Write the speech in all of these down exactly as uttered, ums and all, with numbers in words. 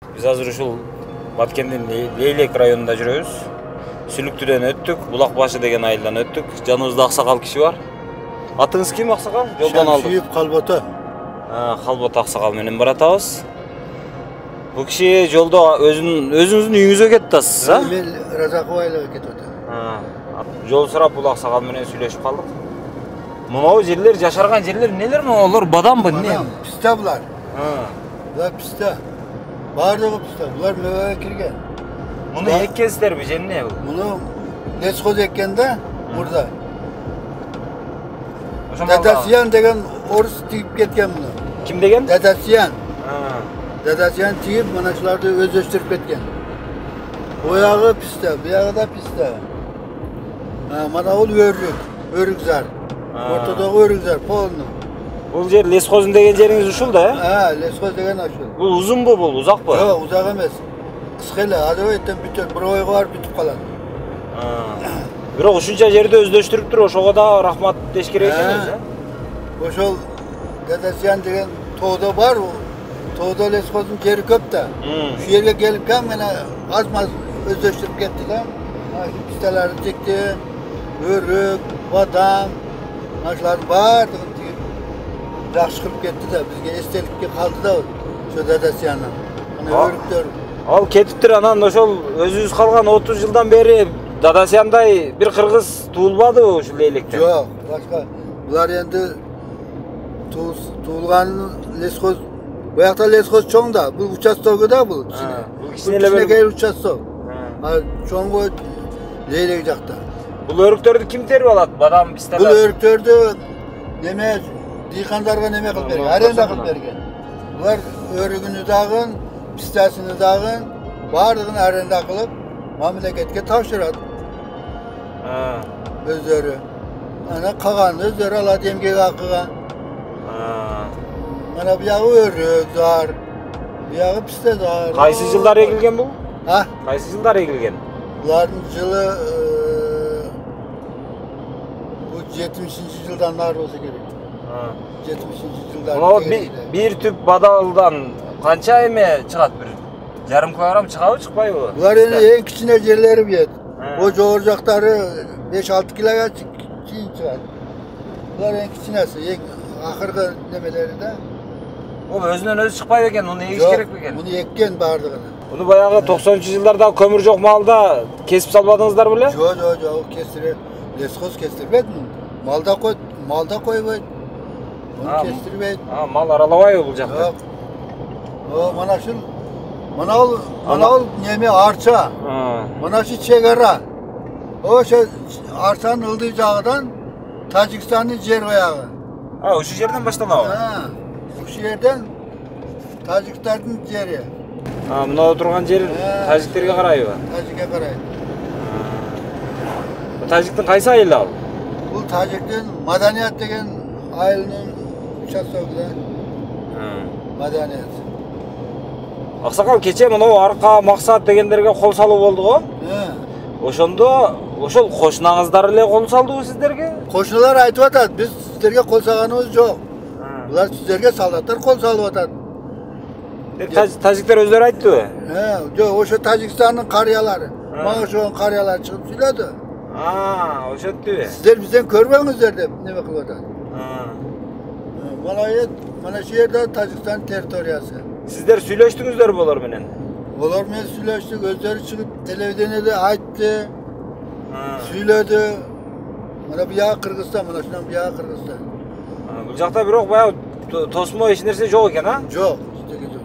Биз азыр ушул Баткендин Лейлек районунда жүрөбүз. Сүлүктүдөн өттүк, Булак башы деген айылдан өттүк. Жаныбызда аксакал киши бар. Атыңыз ким, аксакал? Жолдон алдык. Шамшиев Калбото. А, Калбото аксакал менен баратабыз. Бул киши жолдо өзүнүн өзүңүздүн үйүңүзгө кетип атасыз, а? Мен Разаков айлыга кетип атам. А, жол сурап бул аксакал менен сүйлөшүп калдык. Мынау жерлер, жашарган жерлер нелер мыналар? Бадамбы, эмне? Писта булар. А. Булар писта. Бардыгы писта. Булар мөбөгө кирген. Муну эккенсиздерби же эмне бул? Муну лесхоз эккен да, мурда. Ошо Дадасиян деген орус тигип кеткен муну. Ким деген? Дадасиян. А. Дадасиян тигип, мына шуларды өздөштүрүп кеткен. Буягы писта, буягы да писта. А, мына бул өрүк, өрүк зар. Ортодогу өрүк зар, полный. Бул жер лесхозун деген жериңиз ушул да, э? А, лесхоз деген ушул. Бул узунбу, бул узакпы? Жок, узак эмес. Кыска эле, адабайттан бүтөт, бир ойго барып бүтүп калат. Бирок ушунча жерди өздөштүрүптүр, ошого да рахмат деш керек экенбиз, э? Ошол Дадасиян деген тоодо бар, тоодо лесхоздун жери көп да. Ушул жерге келип кам мына аз-маз өздөштүрүп кетти да. Ашы писталарды текти, өрүк, бадам, ашулардын баардыгын тигип жакшы кылып кетти да, бизге эстеликке калды да ошо Дадасиянын. Мына өрүктөр. Ал кетиптир, анан ошол өзүбүз калган отуз жылдан бери Дадасияндай бир кыргыз туулбадыбы ушул Лейлектен? Жок, башка. Булар энди туулган лесхоз, буякта лесхоз чоң да, бул участогу да бул. Бул кичине бир участок. А чоңго Лейлек жакта. Бул өрүктөрдү ким терип алат? Бадам, писталар. Бул өрүктөрдү неме дыйкандарга неме кылып берген, аренда кылып берген. Булар өрүгүнү дагы, пистасыны дагы баардыгын аренда кылып мамлекетке тапшырат. А. Өздөрү. Ана калганын өздөрү алат эмгек акыга. А. Мана буягы өрүк зар, буягы писта зар. Кайсы жылдар эгилген бул? А? Кайсы жылдар эгилген? Булардын жылы бул жетимишинчи жылдан нары болсо керек. А. жетимишинчи жылдар. О, бир түп бадалдан канча эме чыгат? Бир жарым килограмм чыгабы, чыкпайбы? Булар эми эң кичине жерлери бет. О жогору жактары беш алты килога чейин чыгат. Булар эң кичинеси, эң акыркы немелери да. Бул өзүнөн өзү чыкпайбы экен, муну эгиш керек бекен? Муну эккен баардыгын. Муну баягы токсонунчу жылдарда көмүр жок маалда кесип салбадыңыздар беле? Жок, жок, жок, кестире. Лесхоз кестирбейт муну. Малда койт, малда койбойт. Муну кестирбейт. А, мал аралабайбы бул жакта? Жок. О, мана ушул мына бул, мына бул неме арча. Мына ушул чек ара. Ошо арчанын ылдый жагынан Тажикстандын жер баягы. А, ушул жерден башталабы? А, ушул жерден Тажиктардын жери. А, мына отурган жер тажиктерге карайбы? Тажикке карайт. Тажиктин кайсы айылы ал? Бул Тажиктин Маданият деген айылынын участогу да. Маданият. Аксакал, кече мынау арка, максат дегендерге кол салуу болду го? Ошондо ошол кошунаңыздар эле кол салдыбы сиздерге? Кошуналар айтып атат, биз сиздерге кол салганыбыз жок. Булар сиздерге солдаттар кол салып атат. Тажиктер өздөрү айтты? Жок, ошо Тажикстандын карыялары. Мага ошол карыялар чыгып сүйлөдү. А, ошентиби? Сиздер бизден көрбөңүздөр деп неме кылып атат. Мына ет, мына шу жерде Тажикстан территориясы. Сиздер сүйлөштүңүздөрбү олар менен? Олар менен сүйлөштүк, өздөрү чыгып телевидениеде айтты. Сүйлөдү. Мына буягы Кыргызстан, мына шунан буягы Кыргызстан. Бул жакта бирок баягы тосмо эч нерсе жок экен, а? Жок, эчтеке жок.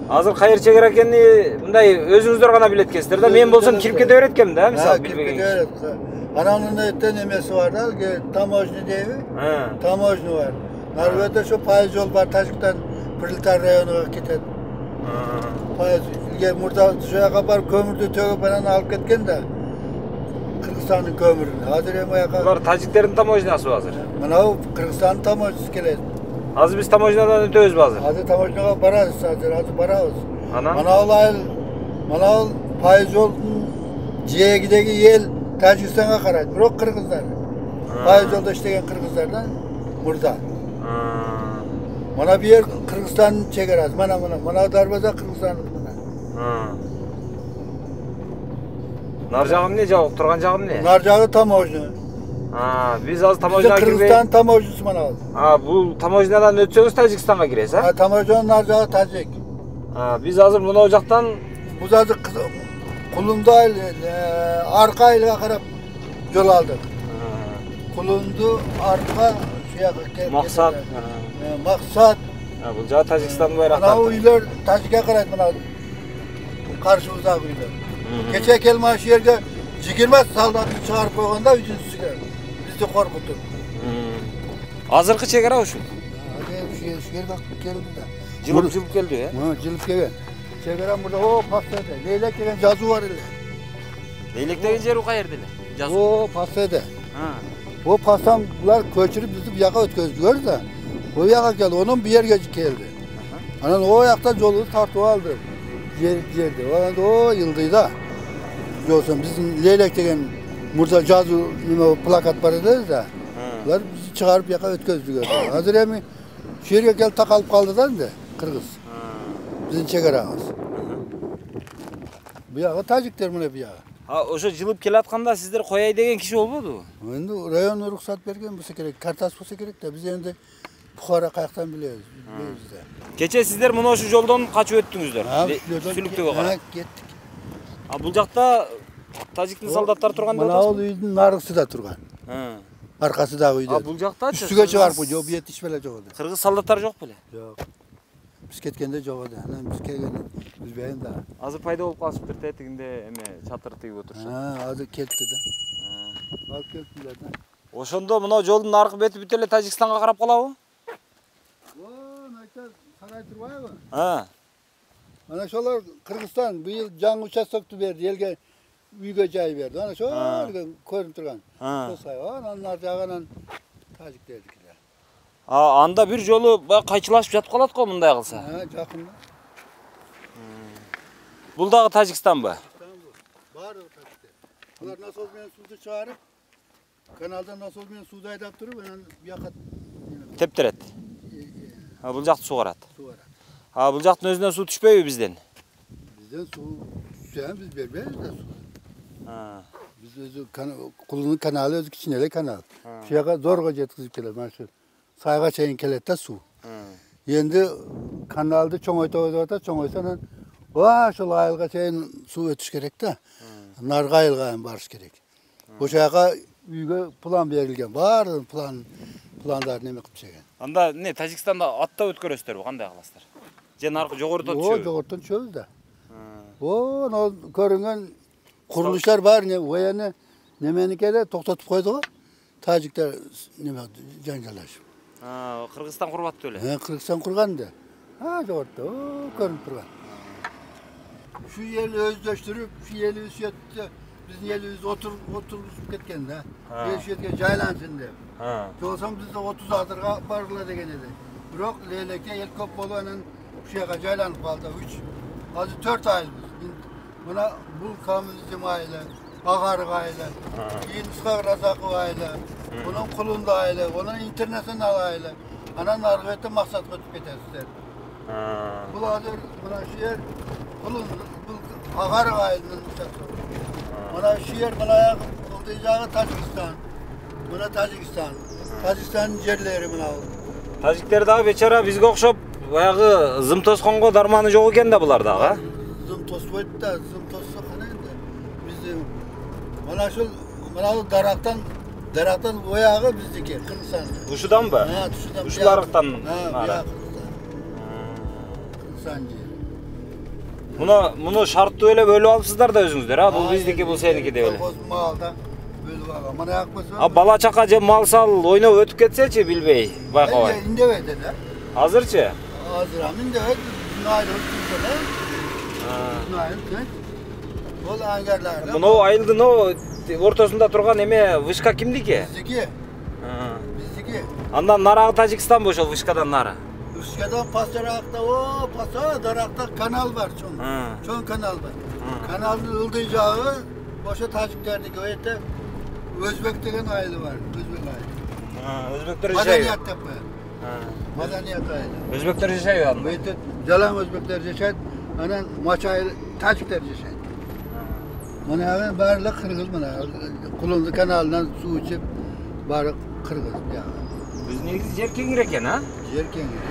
Азыр кайер чегер экенин мындай өзүңүздөр гана билет экенсиздер да. Мен болсом кирип кете берет экенмин да, мисалы билбеген киши. Ананын эттен эмеси бар да, таможня дейби? Таможня бар. Нарбетте ошо пайыз жол бар, Тажиктан Прилетар районуна кетет. Пайыз илге мурда ошо жака барып көмүрдү төгүп анан алып кеткен да. Кыргызстандын көмүрүн. Азыр эми аяка. Булар тажиктердин таможнясыбы азыр? Мына Кыргызстандын таможнясы келет. Азыр биз таможнядан өтөбүзбү азыр? Азыр таможняга барабыз, азыр азыр барабыз. Анан? Мына бул айыл, мына бул пайыз жолдун жээгидеги эл Тажикстанга карайт, бирок кыргыздар. Пайыз жолдо иштеген кыргыздар да мурда. Мына бу жер Кыргызстандын чегарасы. Мына мына, мына дарбаза Кыргызстандын мына. Нар жагы эмне, жок турган жагы эмне? Нар жагы таможня. А, биз азыр таможняга кирбей. Кыргызстан таможнясы мына. А, бул таможнядан өтсөңүз Тажикстанга киресиз, а? А, таможняның нар жагы Тажик. А, биз азыр мына жактан Бул азыр Кулунду арка айылга карап жол алдык. Кулунду арка шияга максат. Максат. А, бул жагы Тажикстандын байрактары. Мына үйлөр Тажикке карайт, мына каршыбыздагы үйлөр. Кече келме шу жерге жыйырма солдатты чыгарып койгондо үчүнчүсүгө бизди коркутуп. Азыркы чек ара ушу. Азыр шу жерге келди да. Жылып жылып келди, э? Мына жылып келген. Чек ара мурда о пассада. Лейлек деген жазуу бар эле. Лейлек деген жер каерде эле? Жазуу. О пассада. О пастан булар көчүрүп бизди бу жака өткөздүлөр да. Бу жака келди, онун бу жерге келди. Анан о жакта жолду тартып алды. Жер жерде. Анан о Йылдыйда. Жолсун биздин Лейлек деген мурда жазуу неме плакат бар эле да. Булар бизди чыгарып жака өткөздүлөр. Азыр эми шу жерге келип такалып калды да энди кыргыз. Биздин чек арабыз. Бу жагы тажиктер мына бу жагы. А, ошо жылып келатканда сиздер кояй деген киши болбодубу? Энди район уруксат берген болсо керек, картасы болсо керек да. Биз энди Бухара каяктан билебиз, билебиз да. Кече сиздер мына ошол жолдон качып өттүңүздөр. Сүлүктөгө карап. Кеттик. А бул жакта тажиктин солдаттары турган деп атасызбы? Мына бул үйдүн наргысында турган. Аркасындагы үйдө. А бул жактачы? Үстүгө чыгарып койду, бет иш беле жок эле. Кыргыз солдаттары жок беле? Жок. Биз кеткенде жок эле. Анан биз келгенде билбейм да. Азыр пайда болуп калышыптыр да, тигинде эме чатыр тигип отурушат. Ha, азыр кетти да. Алып келиптилер да. Ошондо мына жолдун аркы бети бүт эле Тажикстанга карап калабы? О, найта сарай турбайбы? Ha. Ana şolar Kırgızstan bu yıl жаңы участокту берди, элге үйгө жай берди. Ana şol көрүнүп турган. Ошой, анан нар жагынан тажиктердикилер. А, анда бир жолу баягы кайчылашып жатып калат го мындай кылса. Ha, жакын. Бул дагы Тажикстанбы? Баары тажиктер. Булар насос менен сууду чыгарып, каналдан насос менен сууду айдап туруп, анан бияка тептерет. А бул жакты суугарат. Суугарат. А бул жактын өзүнөн суу түшпөйбү бизден? Бизден суу түшсө биз бербейбиз да суу. Ha. Биз өзү Кулунун каналы өзү кичине эле канал. Шу жака зорго жеткизип келет. Мына шу сайга чейин келет да суу. Энди каналды чоңойтобуз деп атат, чоңойсо анан ва ошол айылга чейин суу өтүш керек да. Нарга айылга барыш керек. Ошол жака үйгө план берилген. Баары план пландарын эме кылып чеген. Анда эмне Тажикстанда атта өткөрөсүздөрбү, кандай кыласыздар? Же наркы жогорутан түшөбү? О, жогорутан түшөбүз да. О, но көрүнгөн курулуштар бар, не вояны неменики эле токтотуп койду го. Тажиктер неме жаңжалашып. А, Кыргызстан курбаттуу эле. Э, Кыргызстан курган да. А, жогорутта, о, көрүнүп турган. Şu yeri özleştirip, şu yeri üsiyette bizim yerimiz otur oturup ketken de. Üsiyetke jaylansın dep. Ha. Olsam bizde otuz adırga barıla degen edi. Biroq leylekte el köp bolunan şu yaka jaylanıp kaldı. üç azı dört ayız biz. Buna bu kamilizm aile, Ağarık aile, İnskak Razakı aile, bunun Kulunda aile, onun internasyonel aile. Anan nargıvette maksat götüp ketersizler. Bu adır, buna şu yer Kulun, bu Ağarık ailenin uçakları. Buna şu yer, buna kıldıyacağı Tacikistan. Buna Tacikistan. Tacikistan'ın yerleri buna oldu. Tacikler dagı beçara bizge okşop bayagı zım toskонго darmanı jok eken da bular dagı. Zım tospoydu da, zım tosso kana endi. Bizim mana şu mana daraktan daraktan oyağı bizdeki Kırgızstan. Uşudan mı? Ha, tuşudan. Uşularıktan. Ha, ya Kırgızstan jeri. Bunu bunu şarttуу эле bölüp alыпсыздар да өзүңүздөр, ha? Бул биздики, бул сеники деп эле. Малда bölüp alган. Mana yakmasa. А бала чака же мал сал ойноп өтүп кетсечи билбей, байкабай. İndebeydi de. Азырчы? Азыр амин деп айрылып турса. Ha. Айрылып. Бул аңгарларда. Мына айылдын о ортосунда турган эме вышка кимдики? Биздики. Биздики. Андан нарагы Тажикстан ошол вышкадан нары. Вышкадан пасаракта, о, паса даракта канал бар чоң. Чоң канал бар. Каналдын ылдый жагы ошо тажиктердики, өтө Өзбек деген айылы бар, Өзбек айылы. Өзбектер жашайбы? Маданият деп коет. Маданият айылы. Өзбектер жашайбы анда? Өтө жалаң өзбектер жашайт. Anan Maçay Tacikler yaşaydı. Mana barla Kırgız mana. Kulundu kanalından su içip barı Kırgız ya. Biz negizi yer kengir eken ha? Yer kengir.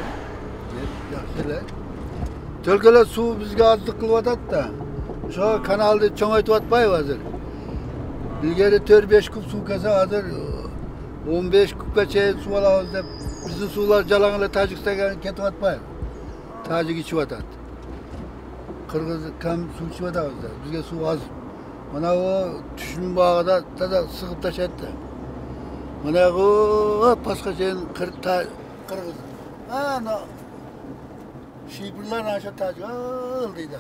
Yer yaxşılar. Tölkeler su bizge azlık kılıp atat da. Şu kanalda çoğaytıp atpay hazır. İlgari dört beş kup su kasa hazır. on beş kupga çay su alabız dep bizdin sular jalangıla Tajikistan'a ketip atpay. Tajik içip atat. Kırgız kam su içip atabız da. Bizge su az. Mana o düşün bağda da sıkıp taşıttı. Mana o başka şeyin Kırgız. Ha no. Şiipurlar aşağı Tajik aldıydı.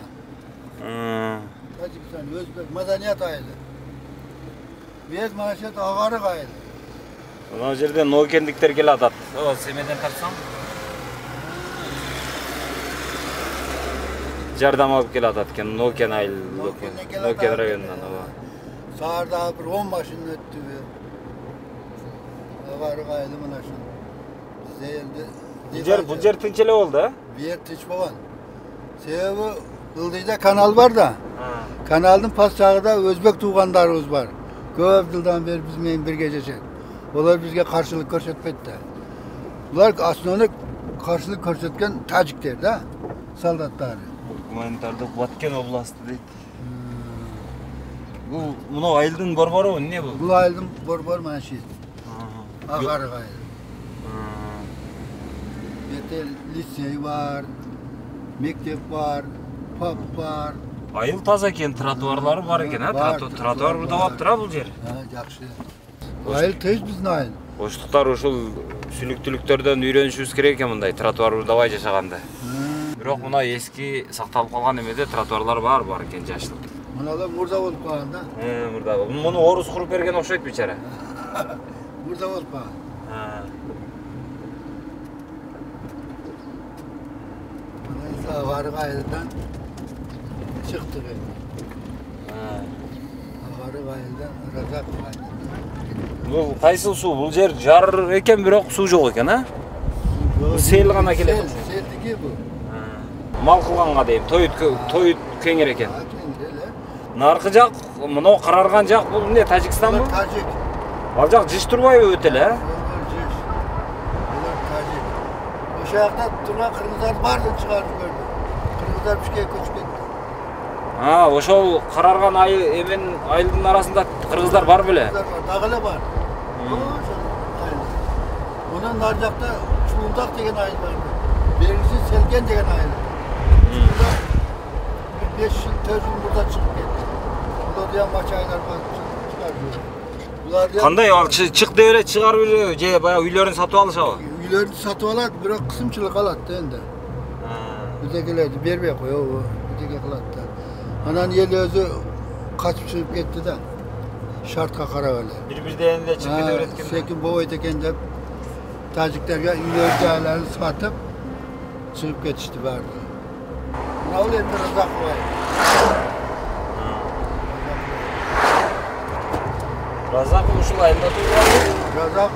Hmm. Tajikistan Özbek madaniyat ayılı. Biz maşet ağarı ayılı. Ana жерде Нокендиктер келе атат. О, семеден тартсам. Жардам алып келе атат экен Нокен айыл. Нокен районунан. Саарда bir on машина өттү. Ağarı ayılı мына şu. Зелди. Бул жер, бул жер тынч эле болду, а? Бер тынч болгон. Себеби Ылдыйда kanal var da. Kanalдын пас жагында өзбек туугандарыбыз бар. Көп жылдан бeri биз менен бирге жашайт. Олар bizge karşılık көрсөтпөйт да. Булар основной каршылык көрсөткөн тажиктер да, солдаттары. Гуманитардык Баткен областы дейт. Бул мына айылдын борбору эмне бул? Бул айылдын борбору mana şu. Агарык айыл. Бете лицей бар, мектеп бар, пап бар. Айыл таза экен, тротуарлары бар экен, а? Тротуар бурдап тура бул жер. Ha, жакшы. Айыл тез биздин айыл. Оштуктар ушул сүнүктүүлүктөрдөн үйрөнүшүбүз керек экен мындай тротуар бурдабай жашаганды. Бирок мына эски сакталып калган эмеде тротуарлар бар бар экен жаштык. Мыналар мурда болуп калган да. Э, мурда. Муну орус куруп берген окшойт бичара. Мурда болуп калган. Ha. Mına Agarık ayıldan çıktık. Ha. Agarık ayıldan Razak ayıldan. Бул кайсыл суу? Бул жер жар экен, бирок суу жок экен, а? Сел гана келет. Селдики бу. Мал кылганга дейм, тоют тоют кеңир экен. Наркы жак, мына карарган жак бул эмне, Тажикстанбы? Тажик. Ал жак жыш турбайбы өтө эле, а? Жыш. Булар Тажик. Ошо жакта турган кыргыздар баардыгын чыгарып көрдү. Кыргыздар бишке көчүп кетти. А, ошол карарган ай эмен айылдын арасында кыргыздар бар беле? Дагы эле бар. Онун нар жакта Чуулдак деген айыл бар. Берisi Selgen деген айыл. beş yıl, dört yıl burada çıkıp ketти. Булар да Maçaylar бар чыгарып. Булар да Кандай ал чык деп эле чыгарып эле же баягы үйлөрүн сатып алышабы? Үйлөрүн сатып алат, бирок кысымчылык алат да энди. Бидегилерди бербей коёбу, биdeге кылат да. Анан эл өзү качып чыгып кетти да. Шартка карап эле. Бири-бирден эле чыгып кете берет экен. Секин болбойт экен деп тажиктерге үйлөр жайларын сатып чыгып кетишти баары. Мына бул эми Разак бай. Разак ушул айылда туулган. Разак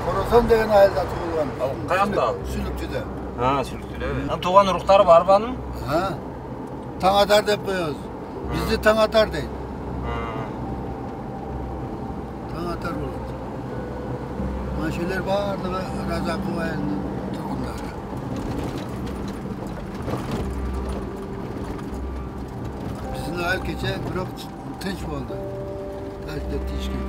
Коросон деген айылда туулган. Ал каякта ал? Сүлүктүдө. Ha, Сүлүктүдө. Анан тууган уруктары барбы анын? Ha. Таңатар деп коебуз. Бизди Таңатар дейт. Таңатар болот. Машелер баардыгы Разак айылынын тургундары. Биздин айыл кече бирок тынч болду. Тажиктер тиешкен.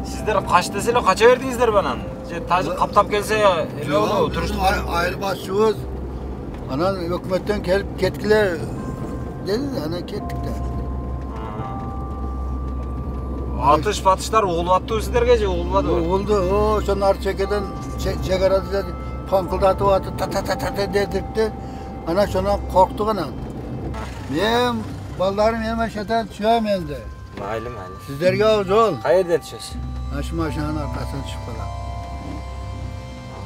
Сиздер кач десе эле кача бердиңиздерби анан? Же тажик каптап келсе эме болобу? Туруштук айыл башчыбыз анан өкмөттөн келип кеткиле dedi, анан кеттик да. Атыш батыштар угулуп аттыбы сиздерге же угулбадыбы? Угулду. О, ошонун ар чекеден чегарада паңкылдатып атып та-та-та-та дедикти. Анан ошонан корктук анан. Мен балдарым эми ошондон түшөм энди. Майли, майли. Сиздерге жол. Каерден түшөсүз? Ашы машинанын аркасынан түшүп калам.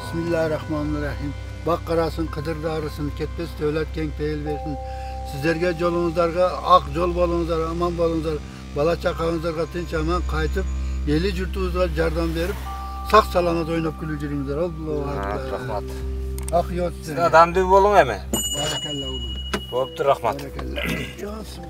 Bismillahirrahmanirrahim. Бак карасын, кыдыр дарысын, кетпес дөлөт кең пейил берсин. Сиздерге жолуңуздарга ак жол болуңуздар, аман болуңуздар. Бала чакаңыздарга тынч аман кайтып, эли журтубузга жардам берип, сак саламат ойноп күлүп жүрүңүздөр. Аллаху акбар. Рахмат. Ак йот. Сиз адамдуу болуң эми. Баракалла улум. Болуптур, рахмат. Баракалла. Johnson.